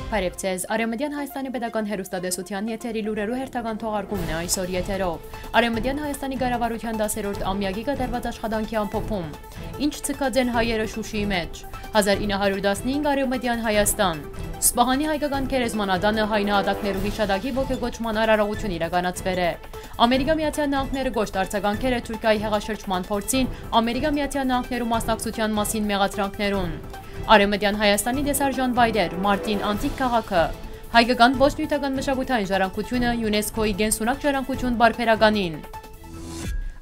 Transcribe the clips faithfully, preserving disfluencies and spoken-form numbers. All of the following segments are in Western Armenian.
Բարեւ ձեզ։ Արեւմտեան Հայաստանի պետական հեռուստատեսութեան եթերի լուրերու հերթական թողարկումն է այսօր եթերով։ Արեւմտեան Հայաստանի կառավարութեան դասերորդ ամյակի կատարուած աշխատանքի ամփոփում։ Ինչ ձգած են հայերը Շուշիի մէջ։ Հազար ինը հարիւր տասնհինգ Արեւմտեան Հայաստան։ Սպահանի հայկական գերեզմանատանը հայ նահատակներու յիշատակի ոգեկոչման արարողութիւն իրականացուեր է։ Ամերիկա Միացեալ Նահանգները կոշտ արձագանքեր է Թուրքիայի հեղաշրջման փորձին Ամերիկա Միացեալ Նահանգներու մասնակցութեան մասին մեղադրանքներուն։ Արեւմտեան Հայաստանի տեսարժան վայրեր, Մարտին անտիկ քաղաքը, հայկական ոչ նիւթական մշակութային ժառանգութիւնը ЮNESCO-ի կենսունակ ժառանգութիւն պարբերականին։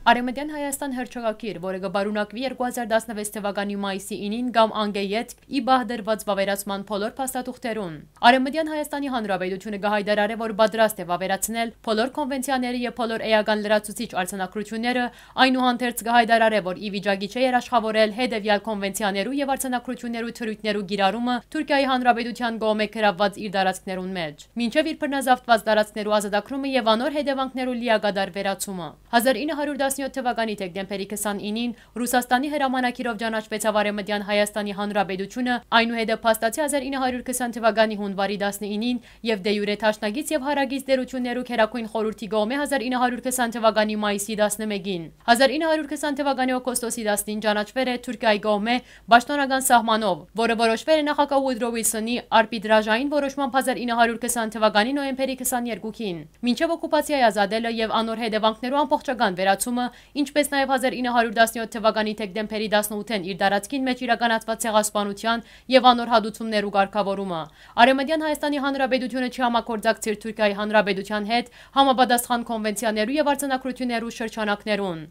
Արեւմտեան Հայաստան հռչակագիր, որը կը պարունակուի երկու հազար տասնվեց թվականի մայիսի ինին կամ անկէ ետք, ի պահ դրուած վաւերացման բոլոր փաստաթուղթերուն։ Արեւմտեան Հայաստանի Հանրապետութիւնը կը յայտարարէ, որ պատրաստ է վաւերացնել բոլոր կոնվենցիաները եւ բոլոր էական լրացուցիչ արձանագրութիւնները, այնուհանդերձ կը յայտարարէ, որ ի վիճակի չէ երաշխաւորել հետեւեալ կոնվենցիաներու եւ արձանագրութիւններու թրոյթներու կիրառումը Թուրքիայի Հանրապետութեան կողմէ գրաւուած իր տարածքներուն մէջ, մինչեւ իր բռնազավթուած տարածքներու ազատագրումը եւ անոր հետեւանքներու լիակատար վերացումը։ Հազար ինը հարիւր տասնեօթ թվականի դեկտեմբերի քսանինին Ռուսաստանի հրամանագիրով ճանաչուեցաւ Արեւմտեան Հայաստանի Հանրապետութիւնը, այնուհետեւ փաստացի հազար ինը հարիւր քսան թվականի յունուարի տասնինին եւ դե յուրե դաշնակից եւ յարակից տէրութիւններու Գերագոյն Խորհուրդի կողմէ հազար ինը հարիւր քսան թվականի մայիսի տասնմէկին։ Հազար ինը հարիւր քսան թվականի օգոստոսի տասնին ճանաչուեր է Թուրքիայի կողմէ պաշտօնական սահմանով, որը որոշուեր է նախագահ Ուդրո Ուիլսոնի արբիտրաժային որոշմամբ հազար ինը հարիւր քսան թվականի նոյեմբերի քսաներկուին, մինչեւ օկուպացիայի ազատելը եւ անոր հետեւանքներու ամբողջական վերացումը, ինչպէս նաեւ հազար ինը հարիւր տասնեօթ թվականի դեկտեմբերի տասնութին իր տարածքին մէջ իրականացուած ցեղասպանութեան եւ անոր հատուցումներու կարգաւորումը։ Արեւմտեան Հայաստանի Հանրապետութիւնը չի համագործակցիր Թուրքիայի Հանրապետութեան հետ համապատասխան կոնվենցիաներու եւ արձանագրութիւններու շրջանակներուն։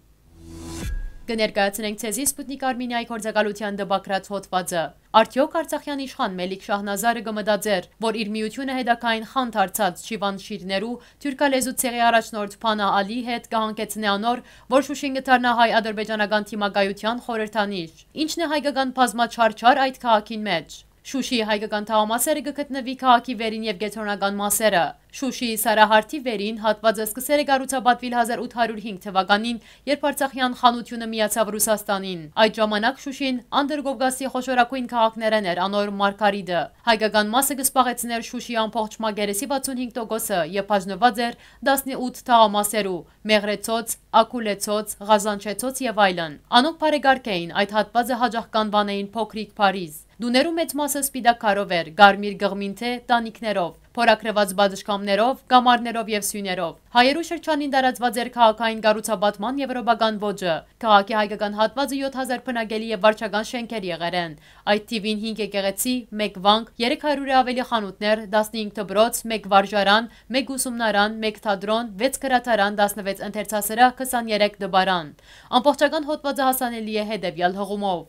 Կը ներկայացնենք ձեզի Սպուտնիք Արմինիայի գործակալութեան տպագրած հոդվածը։ Արդեօք արցախեան իշխան Մելիք Շահնազարը կը մտածէր, որ իր միութիւնը հետագային խան դարձած Չիվան Շիրներու թուրքալեզու ցեղի առաջնորդ Փանա Ալի հետ կը հանգեցնէ անոր, որ Շուշին կը դառնայ հայ-ադրբեջանական դիմակայութեան խորհրդանիշ։ Ի՞նչն է հայկական բազմաչարչար այդ քաղաքին մէջ։ Շուշիի հայկական թաղամասերը կը գտնուի քաղաքի վերին եւ կեդրոնական մասերը։ Շուշիի Սարահարթի վերին հատուածը սկսեր է կառուցապատուիլ հազար ութ հարիւր հինգ թվականին, երբ Արցախեան խանութիւնը միացաւ Ռուսաստանին։ Այդ ժամանակ Շուշին Անդրկովկասի խոշորագոյն քաղաքներէն էր անոր մարգարիտը։ Հայկական մասը կը զբաղեցնէր Շուշիի ամբողջ մակերեսի վաթսուն հինգ տոկոսը եւ բաժնուած էր տասնութ թաղամասերու՝ Մեղրեցոց, Ակուլեցոց, Ղազանչեցոց եւ այլն։ Անոնք բարեկարգ էին այդ հատուածը, յաճախ կ'անուանէին Փոքրիկ Փարիզ։ Տուներու մեծ մասը սպիտակ քարով էր, կարմիր կղմինթէ տանիքներով, փորագրուած պատշգամբներով, կամարներով եւ սիւներով։ Հայերու շրջանին տարածուած էր քաղաքային կառուցապատման եւրոպական ոճը։ Քաղաքի հայկական հատուածը եօթ հազար բնակելի եւ վարչական շէնքեր եղեր են։ Այդ թիւին հինգ եկեղեցի, մէկ վանք, երեք հարիւրէ աւելի խանութներ, տասնհինգ դպրոց, մէկ վարժարան, մէկ ուսումնարան, մէկ թատրոն, վեց գրադարան, տասնվեց ընթերցասրահ, քսաներեք տպարան։ Ամբողջական հոդվածը հասանելի է հետեւեալ հղումով։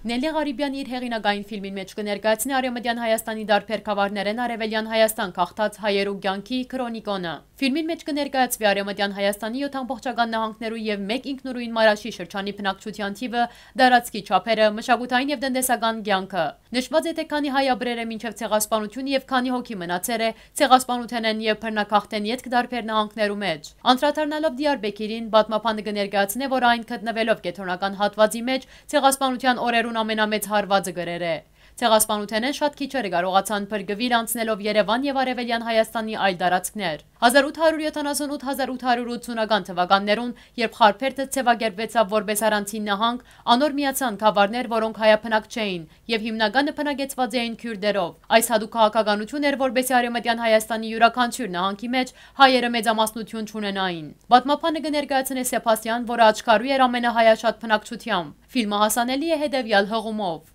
Նելի Ղարիբեան իր հեղինակային ֆիլմին մէջ կը ներկայացնի Արեւմտեան Հայաստանի տարբեր գաւառներէն Արեւելեան Հայաստան գաղթած հայերու կեանքի քրոնիկոնը։ Ֆիլմին մէջ կը ներկայացուի Արեւմտեան Հայաստանի եօթ ամբողջական նահանգներու եւ մէկ ինքնուրույն Մարաշի շրջանի բնակչութեան թիւը, տարածքի չափերը, մշակութային եւ տնտեսական կեանքը։ Նշուած է, թէ քանի հայ ապրեր է մինչեւ ցեղասպանությունը եւ քանի հոգի մնացեր է ցեղասպանութենէն եւ բռնագաղթէն ետք տարբեր նահանգներու մէջ։ Անդրադառնալով Դիարբեքիրին, պատմաբանը կը ներկայացնէ, որ այն գտնուելով կեդրոնական հատուածի մէջ, ցեղասպանութեան օրերուն ամենամեծ հարուածը կրեր է։ Ցեղասպանութենէն շատ քիչերը կարողացան փրկուիլ անցնելով Երեւան եւ Արեւելեան Հայաստանի այլ տարածքներ։ Հազար ութ հարիւր եթանասուն ութ հազար ութ հարիւր ութսունական թվականներուն, երբ Խարբերդը ձեւակերպուեցաւ որպէս առանձին նահանգ, անոր միացան գաւառներ, որոնք հայաբնակ չէին եւ հիմնականը բնակեցուած էին քիւրտերով։ Այս յատուկ քաղաքականութիւն էր, որպէսզի Արեւմտեան Հայաստանի իւրաքանչիւր նահանգի մէջ հայերը մեծամասնութիւն չունենային։ Պատմաբանը կը ներկայացնէ Սեբաստիան, որը աչքարու էր ամենահայաշատ բնակչութեամբ։ Ֆիլմը հասանելի է հետեւեալ հղումով։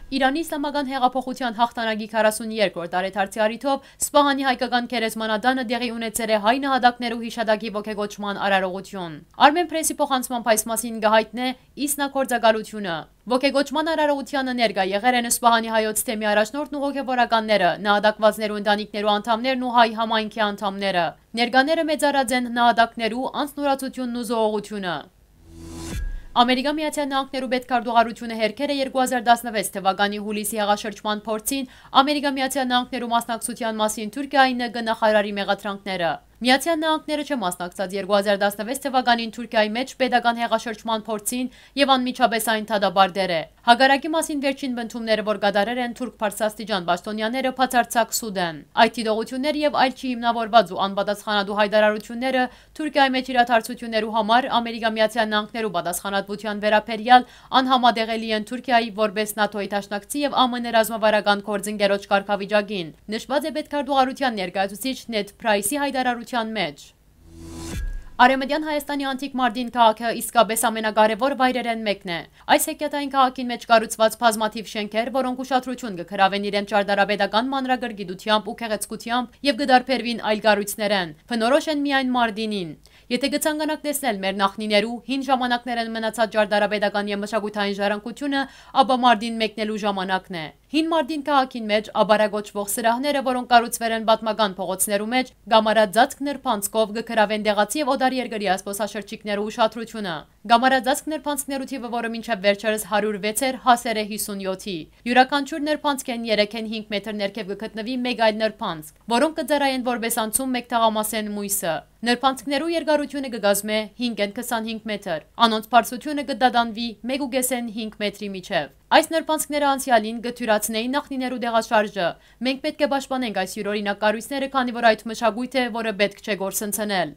Իրանի Իսլամական Հեղափոխութեան յաղթանակի քառասուն երկրորդ տարեդարձի առիթով Սպահանի հայկական գերեզմանատանը տեղի ունեցեր է հայ նահատակներու յիշատակի ոգեկոչման արարողութիւն։ Արմեն Պրեսի փոխանցմամբ այս մասին կը յայտնէ Իսնա գործակալութիւնը։ Ոգեկոչման արարողութեանը ներկայ եղեր են Սպահանի հայոց թեմի առաջնորդն ու հոգեվորականները, նահատակվածներու ընտանիքներու անդամներն ու հայ համայնքի անդամները։ Ներկաները մեծարած են նահատակներու անձնուրացությունն ու զոհողությունը։ Ամերիկա Միացեալ Նահանգներու պետքարտուղարութիւնը հերքեր է երկու հազար տասնվեց թվականի յուլիսի հեղաշրջման փորձին Ամերիկա Միացեալ Նահանգներու մասնակցութեան մասին Թուրքիայի Ն Կ նախարարի մեղադրանքները։ Միացեալ Նահանգները չէ մասնակցած երկու հազար տասնվեց թվականին Թուրքիայի մէջ պետական հեղաշրջման փորձին եւ անմիջապէս այն դատապարտեր է։ Հակառակի մասին վերջին պնդումները, որ կատարեր են թուրք բարձրաստիճան պաշտոնյաները, բացարձակ սուտ են։ Այդ դիտողութիւնները եւ այլ չի հիմնաւորուած ու անպատասխանատու յայտարարութիւնները Թուրքիայի մէջ իրադարձութիւններու համար Ամերիկա Միացեալ Նահանգներու պատասխանատվութեան վերաբերեալ անհամատեղելի են Թուրքիայի որպէս նատօ-ի դաշնակցի եւ Ա Մ Ն ռազմավարական գործընկերոջ կարգավիճակին, նշուած է պետքարտուղարութեան ներկայացուցիչ Նեդ Փրայսի յայտարարութեան մէջ։ Արեւմտեան Հայաստանի անտիկ Մարտին քաղաքը իսկապէս ամենակարեւոր վայրերէն մէկն է։ Այս հեքիաթային քաղաքին մէջ կառուցուած բազմաթիւ շէնքեր, որոնք ուշադրութիւն կը գրաւեն իրենց ճարտարապետական մանրակրկիտութեամբ ու գեղեցկութեամբ եւ կը տարբերուին այլ կառոյցներէն, բնորոշ են միայն Մարտինին։ Եթէ կը ցանկանաք տեսնել մեր նախնիներու հին ժամանակներէն մնացած ճարտարապետական եւ մշակութային ժառանգութիւնը, ապա Մարտին մեկնելու ժամանակն է։ Հին Մարտին քաղաքին մէջ ապարա կոչուող սրահները, որոնք կառուցուեր են պատմական փողոցներու մէջ, կամարածածկ նրբանցքով կը գրաւեն տեղացի եւ օտարերկրեայ զբօսաշրջիկներու ուշադրութիւնը։ Կամարածածկ նրբանցքներու թիւը, որը մինչեւ վերջերս հարիւր վեց էր, հասեր է հիսունյոթի։ Իւրաքանչիւր նրբանցքէն երեքէն հինգ մեթր ներքեւ կը գտնուի մէկ այլ նրբանցք, որոնք կը ծառայեն որպէս անցում մէկ թաղամասէն մոյսը։ Նրբանցքներու երկարութիւնը կը կազմէ հինգէն քսանհինգ մեթր, անոնց բարձրութիւնը կը տատանուի մէկ ու կէսէն հինգ մեթրի միջեւ։ Այս նրբանցքները անցեալին կը թիւրացնէին նախնիներու տեղաշարժը։ Մենք պէտք է պաշտպանենք այս իւրօրինակ կառոյցները, քանի որ այդ մշակոյթ է, որը պէտք չէ կորսնցնել։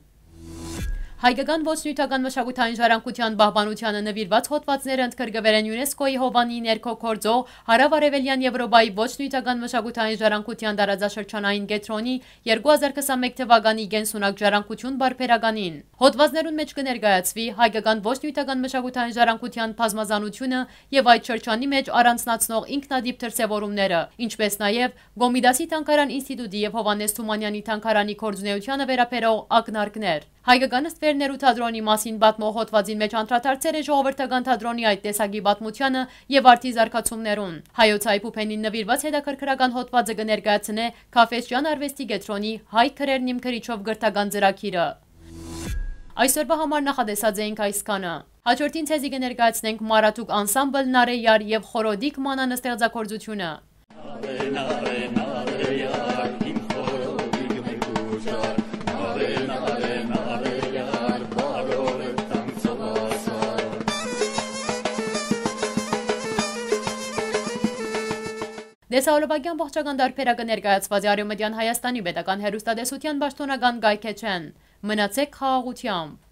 Հայկական ոչ նիւթական մշակութային ժառանգութեան պահպանութեանը նուիրուած հօդուածները ընդգրկուեր են ЮNESCO-ի Հովանի ներքո գործող Հարաւարեւելեան Եւրոպայի ոչ նիւթական մշակութային ժառանգութեան տարածաշրջանային կեդրոնի երկու հազար քսանմէկ թվականի կենսունակ ժառանգութիւն պարբերականին։ Հօդուածներուն մէջ կը ներկայացուի հայկական ոչ նիւթական մշակութային ժառանգութեան բազմազանութիւնը եւ այդ շրջանի մէջ առանձնացնող ինքնատիպ դրսեւորումները, ինչպէս նաեւ Կոմիտասի թանգարան ինստիտուտի եւ Հովհաննէս Թումանեանի թանգարանի գործունեությանը վերաբերող ակնարկներ։ Հայկական ստվերներու թատրոնի մասին պատմող հօդուածին մէջ անդրադարձեր է ժողովրդական թատրոնի այդ տեսակի պատմությանը եւ արդի զարգացումներուն։ Հայոց հայ փուփենին նուիրուած հետաքրքրական հօդուածը կը ներկայացնէ Քաֆէսճեան արուեստի կեդրոնի հայ գրերն իմ գրիչով կրթական ծրագիրը։ Այսօրվա համար նախատեսած էինք այսքանը։ Հաջորդին ձեզի կը ներկայացնենք Մարաթուկ անսամբլ, Նարեյար եւ Խորոդիկ Մանան ստեղծագործութիւնը։ Տեսահոլովակի ամբողջական տարբերակը ներկայացուած է Արեւմտեան Հայաստանի պետական հեռուստատեսութեան պաշտօնական կայքէջէն։ Մնացէք խաղաղութեամբ։